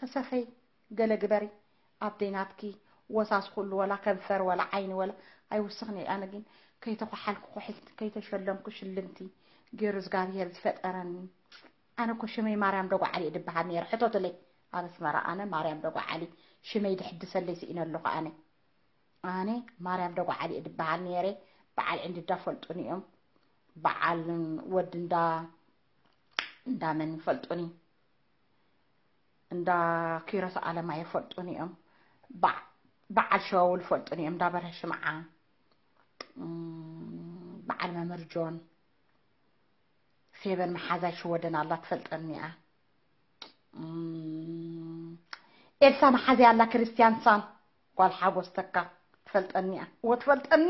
እሰኸይ ገለ ግበሪ፣ ኣብ ደይናትኪ ወሳስ ኩሉ ወላ ከንፈር ወላ ዓይኒ ወላ ኣይውስኽን እየ። ኣነ ግን ከይተኳሓልኩ ኩሕልቲ፣ ከይተሸለምኩ ሽልምቲ ገይሩ እግዚኣብሄር ዝፈጠረኒ። ኣነ እኮ ሽመይ ማርያም ደጓዓሊ እየ ድበሃል ነይረ። ሕቶትለይ ኣብ ኣስመራ ኣነ ማርያም ደጓዓሊ ሽመይ ድሕድሰለይ ስኢነ ኣለኹ። ኣነ ኣነ ማርያም ደጓዓሊ እየ ድበሃል ነይረ። በዓል ዕንድዳ ፈልጡኒ እዮም። በዓል ወዲ እንዳ እንዳመን ፈልጡኒ፣ እንዳ ኪሮስ ኣለማየ ፈልጡኒ እዮም። በዓ- በዓል ሸዋውል ፈልጡኒ እዮም። እንዳ በርሀ ሽምዓ፣ እም፣ በዓል መምህር ጆን፣ ፌበን መሓዛይ ሽወደን ኣላ ትፈልጠኒ እያ። እም፣ ኤልሳ መሓዛይ ኣላ ክርስቲያን ሳን ጓል ሓጎስ ተካ ትፈልጠኒ እያ። እወ ትፈልጠኒ፣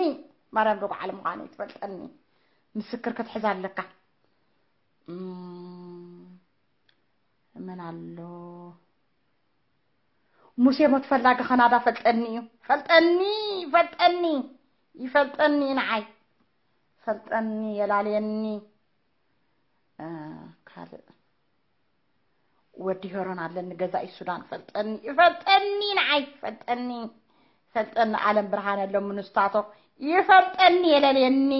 ማርያም ደጉዓለ ምዃነይ ትፈልጠኒ። ምስክር ክትሕዝ ኣለካ። እም፣ መን ኣሎ? ሙሴ ሞት ፈላጊ ከናዳ ፈልጠኒ እዩ። ፈልጠኒ፣ ፈልጠኒ፣ ይፈልጠኒ ንዓይ። ፈልጠኒ፣ የላልየኒ። እ፣ ካልእ ወዲ ሄሮን ኣለኒ ገዛኢ ሱዳን ፈልጠኒ፣ ይፈልጠኒ ንዓይ፣ ፈልጠኒ፣ ፈልጠኒ። ኣለም ብርሃን ኣሎ ምንስታቶ ይፈልጠኒ፣ የለልየኒ።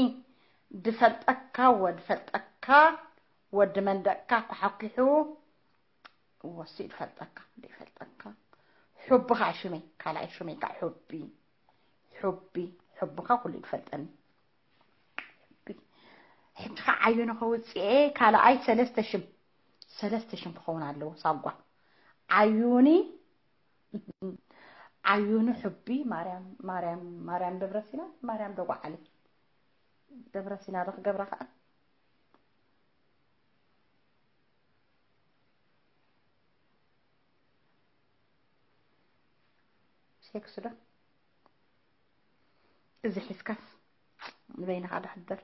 ድፈልጠካ ወድፈልጠካ ወዲ መንደቅካ ኳሓኲሑ ወሲ ድፈልጠካ ድፈልጠካ። ሑብኻ ሽመይ፣ ካልኣይ ሽመይ ከዓ ሑቢ፣ ሑቢ፣ ሑብኻ ኩሉ ይፈልጠኒ። ሕጂ ከዓ ዓዩኒ ከውፅኤ ካልኣይ ሰለስተ ሽም፣ ሰለስተ ሽም ክኸውን ኣለዎ። ሳጓ ዓዩኒ፣ ዓዩኒ ሑቢ፣ ማርያም፣ ማርያም፣ ማርያም ደብረሲና፣ ማርያም ደጓዓሊ። ደብረሲና ዶ ክገብራ ከዓ ሴክስ ዶ እዚ ሒዝካስ ንበይንኻ ዶ ሕደር።